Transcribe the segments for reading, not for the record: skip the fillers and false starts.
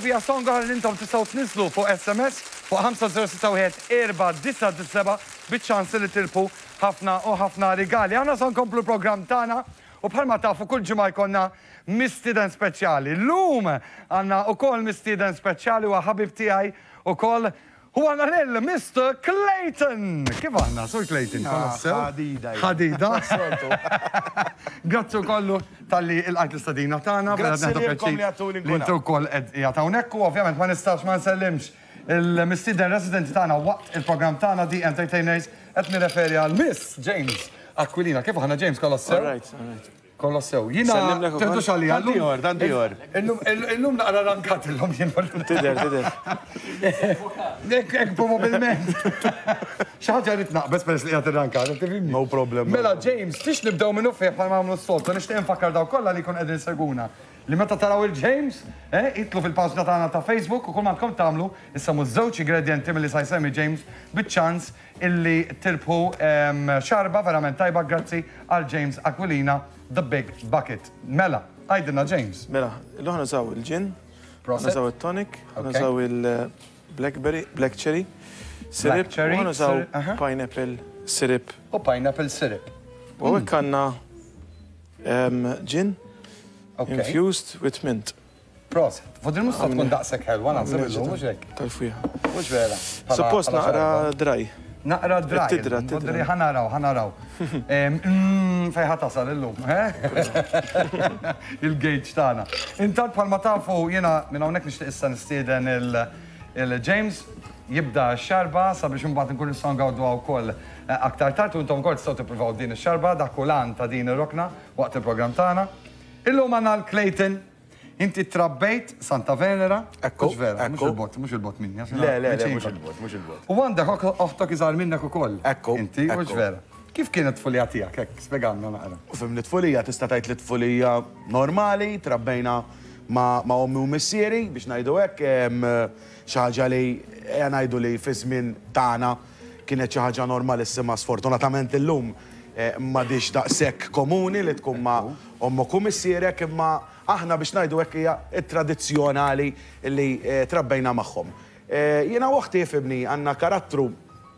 hija song oħra li intom tistgħu tniżżlu fuq SMS fuq 5061 497 biċ-ċans li tirbħu ħafna u ħafna rigali. Aħna se nkomplu l-programm tagħna u bħalma tafu kull ġimgħa jkollna mistieden speċjali. Llum għandna ukoll mistieden speċjali huwa ħabib tiegħi ukoll U għandna lil Mister Clayton! Kif għandna, Sur Clayton? Kollox sew? Ħadida. Ħadida. Grazzi wkoll talli ilqajt l-istedina tagħna. Grazzi lilkom li għedtuli nkun hawn. Li inti wkoll qed qiegħed hawnhekk u ovvjament ma nistax ma nsellimx il-mistieden residenti tagħna waqt il-programm tagħna The Entertainers qed nirreferi għal Miss James Aquilina. Kif aħna James kollox sew? All right, all right. Kollox sew. Jiena Sellimlek ukoll. teħdux għalija. Tant ieħor, tant ieħor. Illum illum naqra rankat illum jien. Tidher, tidher. Hekk hekk probabbilment. Xi ħaġa rrid naqbeż peress li qiegħed irrankat, qed tifhimni? No problem. Mela James, tix nibdew minnu fih bħalma nagħmlu s-soltu, nixtieq infakkar dawk kollha li jkunu qegħdin isegwuna li meta taraw il-James, eh, idħlu fil-paġna tagħna ta' Facebook u kull m'għandkom tagħmlu issemmu żewġ ingredjenti milli sa jsemmi James biċ-ċans Illi tirbħu xarba verament tajba grazzi għal James Aquilina The Big Bucket. Mela, għidilna James. Mela, illum ħa nużaw il-gin, ħa nużaw it-tonic, ħa nużaw il-blackberry, black cherry syrup, u ħa nużaw pineapple syrup. U pineapple syrup. U hawnhekk għandna gin infused with mint. Proset. Fodri mhux se tkun daqshekk ħelwa naħseb illum, mhux hekk? Tal-fwieħa. Mhux vera. Suppost naqra dry. Naqra dry. Tidra, tidra. Fodri ħa naraw, ħa naraw. Mm, fejn ħa tasal illum, eh? Il-gauge tagħna. Intant bħalma tafu jiena minn hawnhekk nixtieq issa nistieden il-James jibda x-xarba sabiex imbagħad inkunu nistgħu ngawduha wkoll eh, aktar tard u intom ukoll tistgħu tippruvaw din ix-xarba dak hu l-għan ta' din ir-rokna waqt il-programm tagħna. Illum għandna l-Clayton Inti trabbejt Santa Venera? Ekku. Mhux vera, mhux ekku. il-bogħod, mhux il-bogħod minni. għax Le, le, le, viċin mhux kont. il-bogħod, mhux il-bogħod. U għandek oħtok iżgħar minnek ukoll. Ekku, Inti, mhux ekku. vera. Kif kienet tfulija tiegħek, hekk, spjegalna naqra. U fimni tfulija, tista' tgħid li tfulija normali, trabbejna ma' ma' ommi u missieri, biex ngħidu hekk, em, xi ħaġa li ejja ngħidu li fiż-żmien tagħna kienet xi ħaġa normalissima, sfortunatament illum eh, m'għadhiex daqshekk komuni li tkun ma' ommok u missierek, imma aħna biex ngħidu hekk hija t-tradizzjonali li trabbejna magħhom. Jiena u oħti ifhimni għandna karattru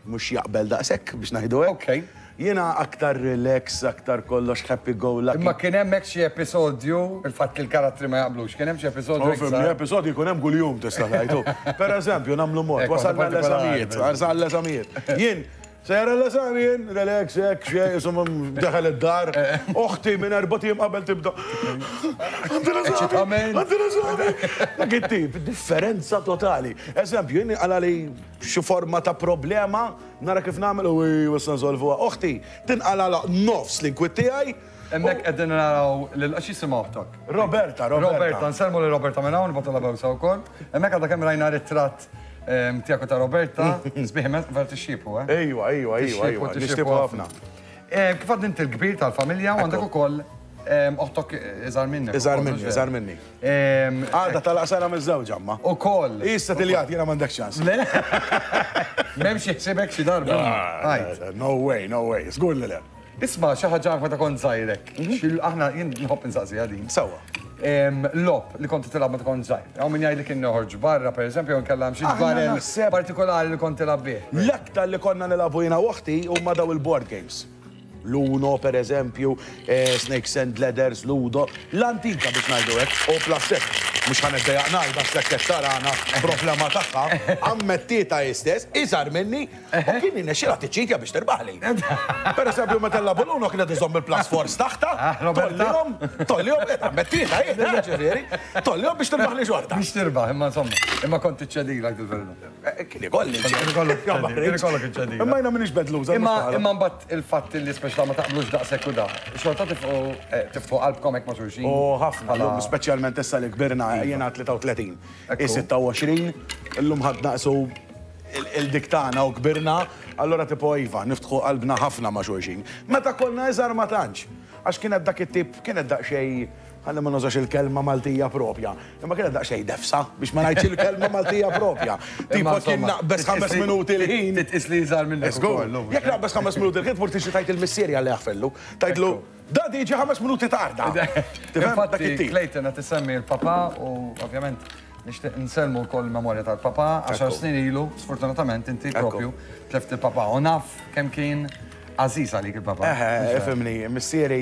mhux jaqbel daqshekk biex ngħidu hekk. Okej. Jiena aktar relax, aktar kollox happy go lucky. Imma kien hemm hekk xi episodju, il-fatt li l-karattri ma jaqblux, kien hemm xi episodju hekk Ifhimni, żgħar? episodji jkun hemm kuljum tista' tgħid hu. Pereżempju nagħmlu mod, wasalna l-eżamijiet, wasalna l-eżamijiet. Jien Sejjer l-eżami jien, relax, hekk, xejn, insomma, daħal id-dar. Oħti minn erbat ijiem qabel tibda. Għandi l-eżami, għandi l-eżami. Dak it-tip, differenza totali. Eżempju, jien inqala' li xi forma ta' problema, nara kif nagħmel u issa nsolvuha. Oħti, tinqala' nofs l-inkwiet tiegħi. Hemmhekk qegħdin naraw lil x'jisimha oħtok? Roberta, Roberta. Roberta, nsellmu lil Roberta minn hawn, nibgħatulha bewsa wkoll. Hemmhekk għadha kemm rajna ritratt tiegħek u ta' Roberta, sbieħ immens, vera tixxiepu, eh? Ejwa, ejwa, ejwa, ejwa, nixtiequ ħafna. Kif għad inti l-kbir tal-familja u għandek ukoll oħtok iżgħar minnek. Iżgħar minni, iżgħar minni. Għadha tagħlaq sena miżżewġa imma. Ukoll. Hi ssettiljat, jiena m'għandekx ċans. Le? M'hemmx ħsiebek xi darba? No way, no way, żgur li le. Isma' xi ħaġa anke meta kont żgħir hekk. Aħna jien nħobb insaqsiha din. Sewwa. Logħob li kont tilgħab meta kont żgħir. Hawn min jgħidlek kien noħorġ barra pereżempju jew inkella hemm xi ġbarel partikolari li kont tilgħab bih. L-aktar li konna nilagħbu jiena u oħti huma dawn il-board games. L-Uno pereżempju, Snakes and Ladders, Ludo, l-antika biex ngħidu hekk, u plus hekk, mhux ħa niddejjaq ngħid għax hekk qed tarana problema tagħha, ammettietha hi stess, iżgħar minni, U kien jirnexxilha tiċċitja biex tirbaħli. Per eżempju, meta nlagħbu l-Uno kienet iżomm il-plus fours taħtha, ah, tollihom, tollihom, eh, ammettietha, eh, eh, ġifieri, tollihom biex tirbaħli xorta. Biex tirbaħ, imma insomma, imma kont tiċċedilek dil-verità. Eh, kien ikolli Kien ikollok kien ikollok iċċedila. Imma jiena m'iniex bad loser. Imma imma mbagħad il-fatt li speċta ma taqblux daqshekk u da, xorta tifqu tifqu qalbkom hekk ma' xulxin. U ħafna, speċjalment issa li kbirna, jiena 33, 26, illum ħadd naqsu il-dik tagħna u kbirna, allura tipo iva, niftħu qalbna ħafna ma' xulxin. Meta konna iżgħar ma tantx, għax kienet dak it-tip, kienet daqsxejn, ħalli ma nużax il-kelma Maltija propja, imma kienet daqsxejn defsa, biex ma ngħidx il-kelma Maltija propja. Tipo kien naqbeż ħames minuti l-ħin. Titqis li iżgħar minnek ukoll. Jekk naqbeż ħames minuti l-ħin tmur tixtri tgħid il-missieri għalli jaħfillu. Tgħidlu, Daddy ġie ħames minuti tarda. Infatti, Clayton qed isemmi l-papa u ovvjament. Nixtieq nsellmu wkoll il-memorja tal-papà, għaxar snin ilu, sfortunatament inti propju tlift il-papà u naf kemm kien għażiż għalik il-papà. Eħe, ifhimni, missieri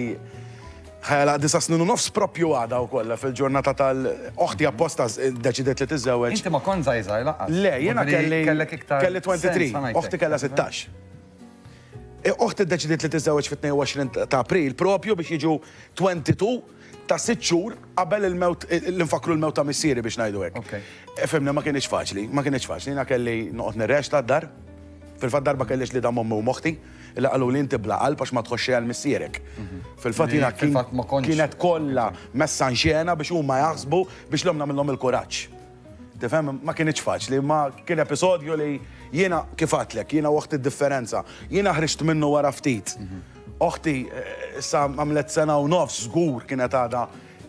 ħa jagħlaq disa' snin u nofs propju għada wkoll fil-ġurnata tal oħti apposta ddeċidiet li tiżżewweġ. Inti ma kont żgħir żgħir lanqas. Le, jiena kelli kelli 23, oħti kellha 16. Oħti ddeċidiet li tiżżewweġ fit-22 ta' April propju biex jiġu 22 ta' sitt xhur qabel il-mewt, li nfakkru l-mewt ta' missieri biex ngħidu hekk. Ifhimni, ma kinitx faċli, ma kinitx faċli. Jiena kelli noqgħod nirreċta d-dar. Fil-fatt darba kelli ġlieda m'ommi u m'oħti, li qaluli inti bla qalb għax ma tħossx xejn għal missierek. Fil-fatt jiena kienet kollha messa in xena biex huma jaħsbu biex l-omm nagħmilhom il-kuraġġ. Tifhem, ma kinitx faċli, imma kien episodju li jiena, kif għedtlek, jiena u oħti d-differenza. Jiena ħriġt minnu wara ftit. Oħti issa għamlet sena u nofs żgur kienet għadha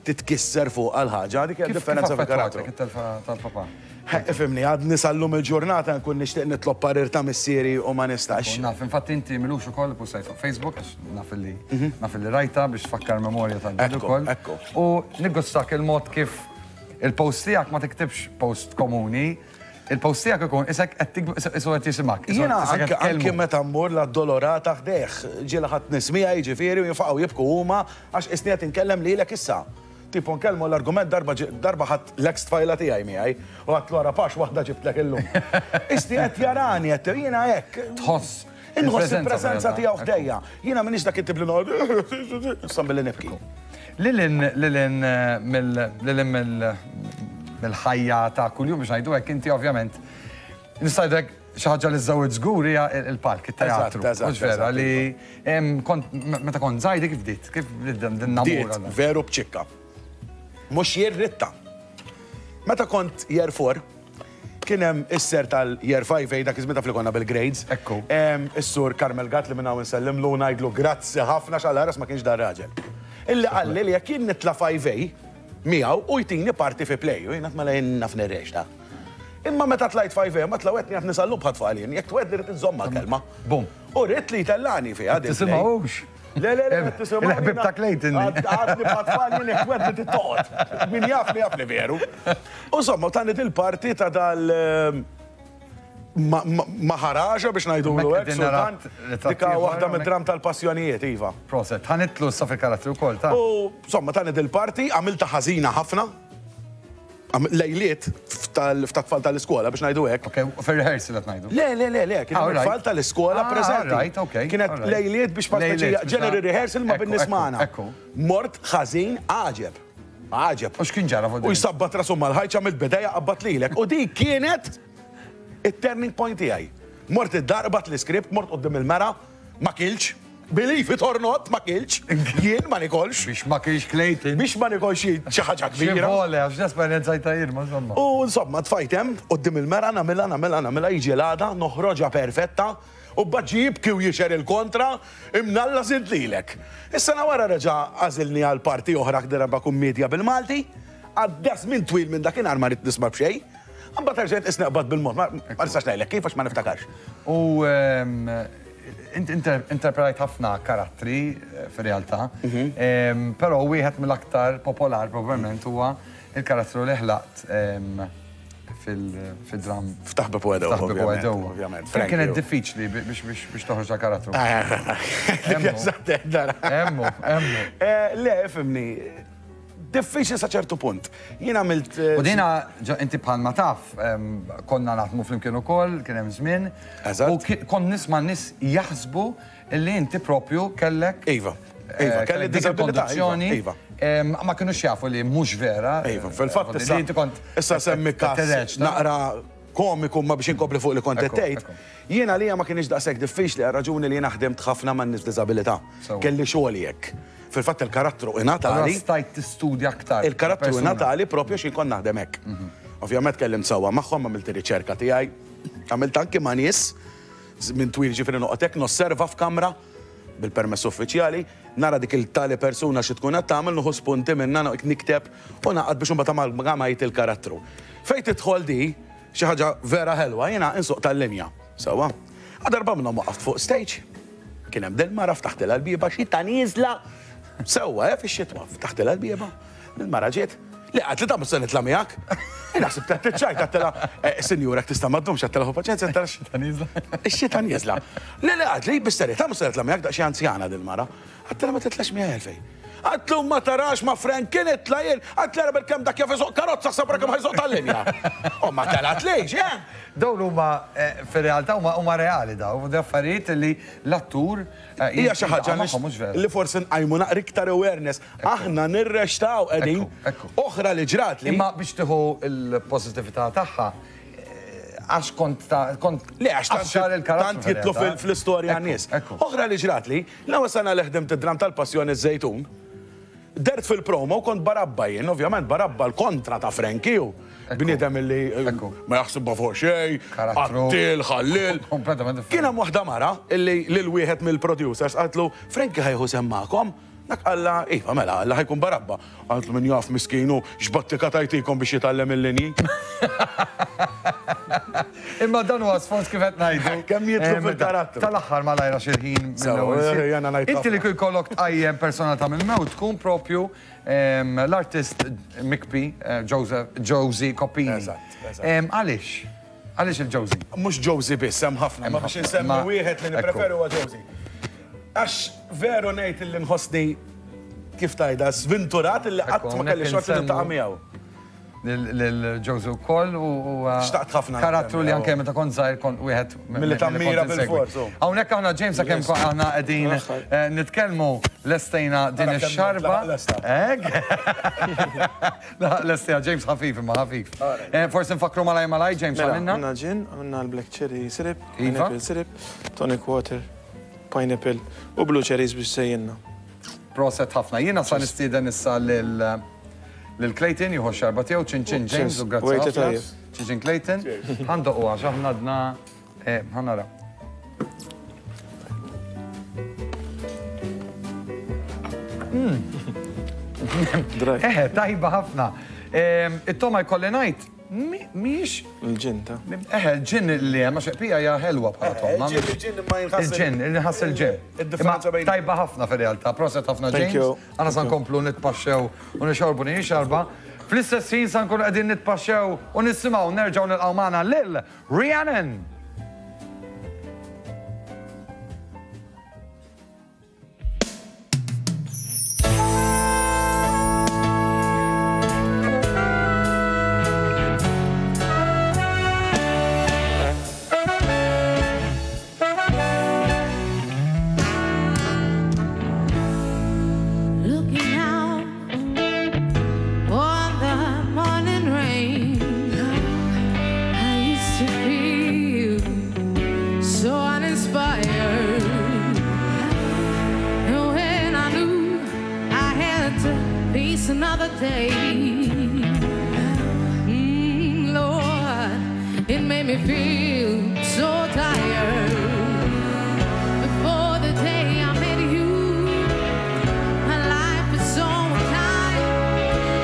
titkisser fuqha l-ħaġa, dik hija d-differenza fil-karattru. Kif affettwatek it-telfa tal-papà? Ifhimni, għadni sal-lum il-ġurnata nkun nixtieq nitlob parir ta' missieri u ma nistax. Naf, infatti inti m'ilux ukoll ippostajt fuq Facebook, għax naf illi naf illi rajtha biex tfakkar memorja tal-ġid ukoll. Ekku, ekku. U niggustak il-mod kif Il-post tiegħek ma tiktibx post komuni, il-post tiegħek ikun isek qed isu qed jisimgħek. Jiena anke meta mmur l-Addolorata ħdejh, ġieli ħadt nies miegħi jiġifieri u jinfaqgħu jibku huma għax qisni qed inkellem lilek issa. Tipo nkellmu l-argument darba darba ħadt l-eks tfajla tiegħi miegħi u għedtlu ara pax waħda ġibtlek illum. Qisni qed jarani qed jiena hekk. Tħoss. Inħoss il-preżenza tiegħu ħdejja. Jiena m'iniex dak it-tip li noqgħod nistgħan billi nibki. Lil hinn lil hinn mill lil hinn mill mill-ħajja ta' kuljum biex ngħidu hekk inti ovvjament nista' ngħidlek xi ħaġa li żżewwiġ żgur hija l-palk, it-teatru. Mhux vera li kont meta kont żgħir kif bdiet? Kif bdiet din namura? Bdiet veru b'ċikka. Mhux jien ridtha. Meta kont year 4, Kien hemm is-ser tal-Year 5A dak iż-żmien taf li konna bil-grades. Ekku. Is-sur Carmel Gatt li minn hawn insellimlu u ngħidlu grazzi ħafna għax Alla ħares ma kienx dar-raġel. Illi qalli li jekk jien nitla' 5A miegħu hu jtini parti fi play u jien għedt mela jien naf nirreċta. Imma meta tlajt 5A mbagħad tlawetni għad nisallum bħat-tfal jien, jekk twegħedni rrid inżommha l-kelma. Bum. U ridt li jtellagħni fiha din. Tisimgħux? Le, le, le, tisimgħu. Il-ħbib ta' Clayton. Għadni bħat-tfal jien jekk twegħedni trid toqgħod. Min jafni jaf li veru. U insomma, tani dil-parti ta' dal Maharaja biex ngħidulu hekk, sultan. Dika waħda mid-dram tal-passjonijiet, iva. Proset, ħa nidħlu issa fil-karattri wkoll, ta'. U insomma, tani dil-parti, għamiltha ħażina ħafna. Lejliet f'tat-tfal tal-iskola biex ngħidu hekk. Ok, fir-rehearsal qed ngħidu. Le, le, le, le, kien hemm tfal tal-iskola preżenti. Right, ok. Kienet lejliet biex pa speċi general rehearsal ma' bin-nies magħna. Mort ħażin għaġeb. Għaġeb. U x'kien ġara fuq U jsabbat rasu mal-ħajt x'għamilt b'idejja qabbadt lilek. U dik kienet it-turning point tiegħi. Mort id-dar qbadt l-iskript, mort quddiem il-mera, ma kiltx. Believe it or not, ma kiltx. Jien ma nikolx. Biex ma kilx Clayton. Biex ma nikolx xi ħaġa kbira. Xi vole, għax l-esperjenzajtha jien, ma insomma. U insomma, tfajt hemm quddiem il-mera nagħmilha, nagħmilha, nagħmilha, jiġi l-għada, noħroġha perfetta. U mbagħad ġie jibki u jixher il-kontra, Imnalla żidt lilek. Is-sena wara reġa' għażilni għal parti oħra darba kummiedja bil-Malti. Għadda żmien twil minn dakinhar ma ridt nisma' b'xejn. Imbagħad erġajt qisni qbadt bil-mod, ma nistax ngħidlek kif għax ma niftakarx. U int interpretajt ħafna karattri fir-realtà, però wieħed mill-aktar popolar probabbilment huwa l-karattru li ħlaqt fil-dramm. F'Taħbeb u Għedew. F'Taħbeb u Għedew. Ovvjament. Kemm kienet diffiċli biex toħroġ dal-karattru? Hemmu, hemmu. Le, ifhimni, diffiċli sa ċertu punt. Jien għamilt. U dina, inti bħalma taf, konna naħdmu flimkien ukoll, kien hemm żmien. Eżatt. U kont nisma' n-nies jaħsbu Illi inti propju kellek. Iva. Iva, kelli dik il-kondizzjoni. Iva. Ma kinux jafu li mhux vera. Iva, fil-fatt issa. Inti kont. Issa semmi każ naqra komiku ma biex inkompli fuq li kont qed tgħid. Jiena għalija ma kienx daqshekk diffiċli għar-raġuni li jiena ħdimt ħafna man nies b'diżabilità. Kelli xogħli hekk. Fil-fatt il-karattru ingħatali. Stajt tistudja aktar. Il-karattru ingħatali propju x'jien kont naħdem hekk. Ovvjament kellimt sewwa magħhom, għamilt ir-riċerka tiegħi, għamilt anki ma' nies Żmien twil jiġifieri noqgħod hekk nosserva f'kamra, bil-permess uffiċjali, nara dik il-tali persuna xi tkun qed tagħmel, nieħu spunti minnha, noqgħod nikteb u nagħqad biex imbagħad amalgamajt il-karattru. Fejn tidħol di, xi ħaġa vera ħelwa, jiena insuq tal-linja, sewwa. A darba minnhom waqaft fuq stage, kien hemm dil-mara ftaħtilha l-bieba, xita nieżla, sewwa, eh, fix-xitwa, ftaħtilha l-bieba, dil-mara ġiet. Le, għad li da mhux se nitla' miegħek. Jien ħsibt qed tiċċajta għedtilha, Sinjura jekk tista' ma ddumx għedtilha ħu paċenzja għedtilha x-xita nieżla. Ix-xita nieżla. Le, le għad li bis-serjetà mhux se nitla' miegħek daqsxejn anzjana dil-mara. Għedtilha ma titlax miegħi għalfejn. Għedtlu ma tarax ma' Frank kien itla' jien, għedtlu ara bil-kemm dak jaf isuq karozza ħseb ara kemm ħa jsuq tal-linja. U ma telgħatlix, eh! Dawn huma fir-realtà huma reali dawn, affarijiet li l-attur Hija xi ħaġa li forsi nqajmu naqra iktar awareness. Aħna nirrextaw qegħdin. Oħra li ġratli. Imma biex tieħu l-pożittività tagħha, għax kont ta' kont. Le, għax tant jidħlu fl-istorja n-nies. Oħra li ġratli, l-ewwel sena li ħdimt id-dramm tal-Passjoni ż-Żejtun, Dehrt fil-promo kont Barabba jien, ovvjament Barabba l-kontra ta' Frankie hu. Bniedem illi ma jaħsibha fuq xejn, qattiel, ħalliel. Kien hemm waħda mara illi lil wieħed mill-producers qaltlu, Frankie ħa jieħu sehem magħkom? Dak qallha, iva mela, qallha ħa jkun Barabba. Qaltlu min jaf miskin hu x'battika tajtikom biex jitgħallem il-linji. Imma dan huwa sforz kif qed ngħidu. Kemm jidħlu fil-karattru. Tal-aħħar malajr għax il-ħin mill-ewwel. Inti li jkollok tqajjem personalità mill-mewt tkun propju l-artist mikpi Joseph Josie Coppini. Għaliex? Għaliex il-Josie? Mhux Josie biss, hemm ħafna, ma biex insemmi wieħed li nippreferi huwa Josie. Għax veru ngħid illi nħossni kif tgħidha svinturat illi qatt ma kelli xorti niltaqa' miegħu. Lil Josie wkoll u Xtaqt ħafna. Karattru li anke meta kont żgħir kont wieħed milli tammira bil-fors. Hawnhekk aħna James sakemm aħna qegħdin nitkellmu lestejna din ix-xarba. Hekk. Lestejna James ħafif imma ħafif. Forsi nfakkru malaj malaj James għamilna. Għamilna gin, għamilna l-black cherry syrup, pineapple syrup, tonic water, pineapple u blue cherries biex żejjinna. Proset ħafna. Jiena sa nistieden issa lil Lil Clayton jieħu x-xarba tiegħu, ċin ċin James u grazzi ħafna. Ċin ċin Clayton. Ħa ndoqquha għax aħna għadna ħa naraw. Eħe, tajba ħafna. It-togħma jkolli ngħid Mhijiex. Il-ġinn ta'. Eħe, il-ġinn li hemm, għax pija hija ħelwa bħala togħma. Il-ġinn imma jinħass. Il-ġinn, inħass il-ġinn. Id-differenza bejn. Tajba ħafna fir-realtà, proset ħafna James. Aħna sa nkomplu nitpaxxew u nixorbu din ix-xarba. Fl-istess ħin sa nkunu qegħdin nitpaxxew u nisimgħu nerġgħu nilqgħu magħna lil Rhiannon! Looking out on the morning rain, I used to feel so uninspired. And when I knew I had to face another day, Lord, it made me feel so tired. Before the day I met you, my life is so unkind.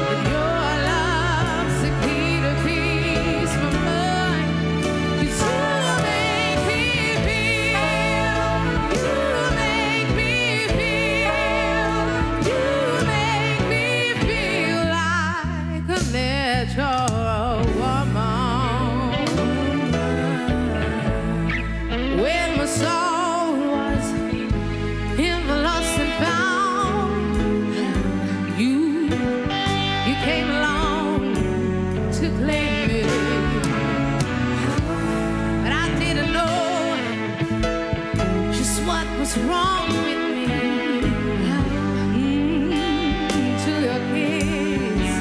But your love's the key to peace my mind. 'Cause you make me feel, you make me feel, you make me feel like a natural woman. When my soul was in the lost and found, you came along to claim me. But I didn't know just what was wrong with me. Till your kiss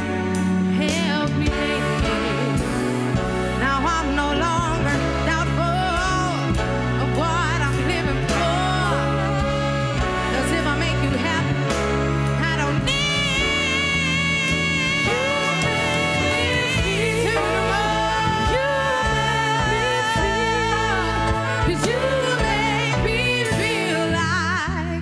helped me make it. Now I'm no longer doubtful of what I'm living for. 'Cause if I make you happy, I don't need you to You make me feel, 'cause you make me feel like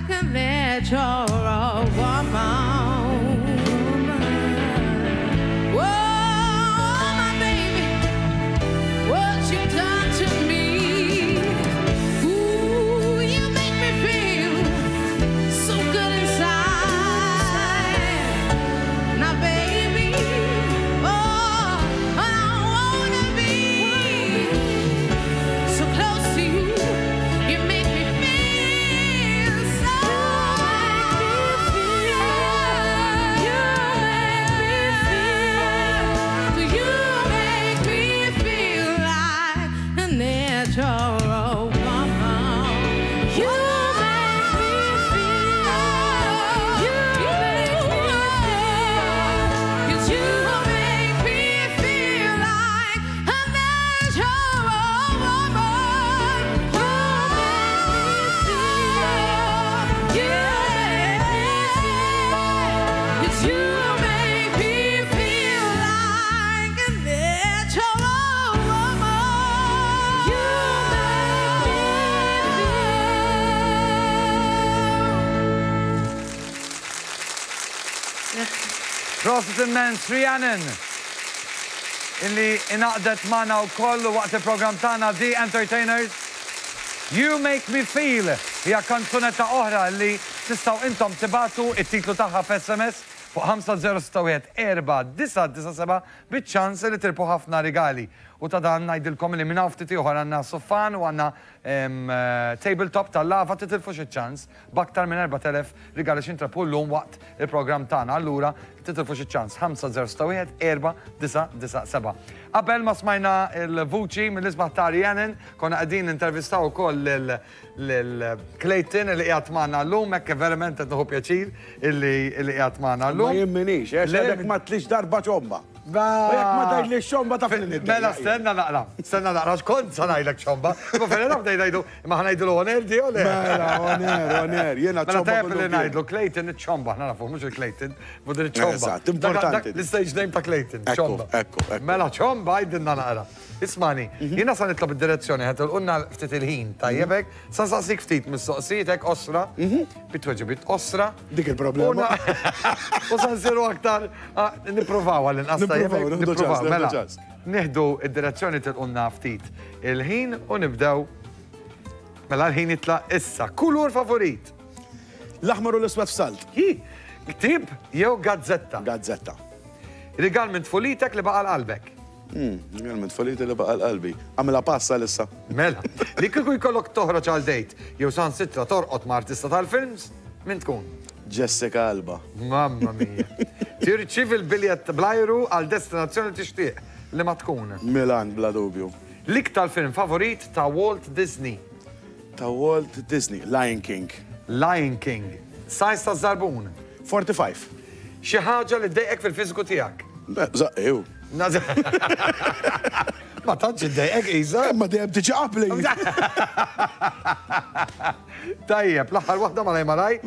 Prosit immens Rhiannon illi ingħaqdet magħna wkoll waqt il-programm tagħna The Entertainers. You Make Me Feel hija kanzunetta oħra li tistgħu intom tibagħtu it-titlu tagħha f'SMS fuq 5061 4997 biċ-ċans li tirbħu ħafna rigali. U ta' dan ngħidilkom li minn hawn ftit ieħor għandna suffan u għandna tabletop tal-lava titilfux iċ-ċans b'aktar minn 4,000 rigali x'intrebħu llum waqt il-programm tagħna. Allura titilfux iċ-ċans 5061 4997. Qabel ma smajna l-vuċi mill-isbaħ ta' Rhiannon, konna qegħdin nintervistaw ukoll lil lil Clayton li qiegħed magħna llum, hekk verament qed nieħu pjaċir illi qiegħed magħna llum. Ma jien minix, għax għadek ma tlix darba ċomba. U jekk ma tgħidlix xomba taf li niddi. Mela stenna naqra, stenna naqra, x'kont sa ngħidlek xomba. Imma fejn naf ngħidu, imma ħa ngħidlu oner di ole. Mela oner, oner, jiena ċomba. Mela tajjeb li ngħidlu Clayton iċ-ċomba, aħna nafu mhux il-Clayton, budir iċ-ċomba. Eżatt, importanti. L-stage name ta' Clayton, ċomba. Ekku, ekku. Mela ċomba għidilna naqra. Ismani, jiena sa nitlob id-direzzjoni ħa tilqulna ftit il-ħin, tajjeb hekk? Sa nsaqsik ftit mistoqsijiet hekk qosra, bi tweġibiet qosra. Dik il-problema. U sa nsiru aktar nippruvaw għall-inqas tajjeb hekk? Nippruvaw, mela. Nieħdu id-direzzjoni tilqulna ftit il-ħin u nibdew. Mela l-ħin jitlaq issa. Kulur favorit? L-aħmar u l-iswed f'salt. Hi, ktieb jew gazzetta? Gazzetta. Rigal minn tfulitek li baqa' l-qalbek? Rigal minn tfuliti li baqa' l-qalbi. Għamilha pass għalissa. Mela, li kieku jkollok toħroġ għal date jew saħansitra torqod ma' artista tal-films, min tkun? Jessica Alba. Mamma mia. Tirċievi l-biljett bl-ajru għal destinazzjoni li tixtieq, liema tkun? Milan, bla dubju. L-iktar film favorit ta' Walt Disney? Ta' Walt Disney, Lion King. Lion King. Size ta' żarbun? 45. Xi ħaġa li ddejqek fil-fiżiku tiegħek? Żaqqi, hu. Ma tantx iddejqek qisha. Imma dejjem tiġi qabli. Tajjeb, l-aħħar waħda malaj malaj.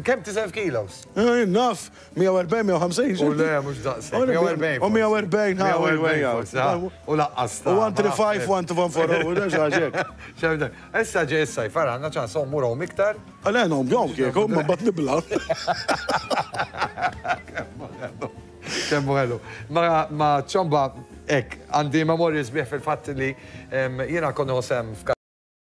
Kemm tiżen f'kilos? Naf, 140, 150. U le, mhux daqshekk. 140. U 140, ha, 140. U laqqas. U 135, 114, u xi ħaġa Issa ġej is-sajf, ara għandna ċans ommu rom iktar. Le, nom jom kieku, ma bat nibla. Kemmu ħelu. Ma ċomba, ek, għandi memorji sbieħ fil-fatt li jiena kont nieħu sehem f'kar.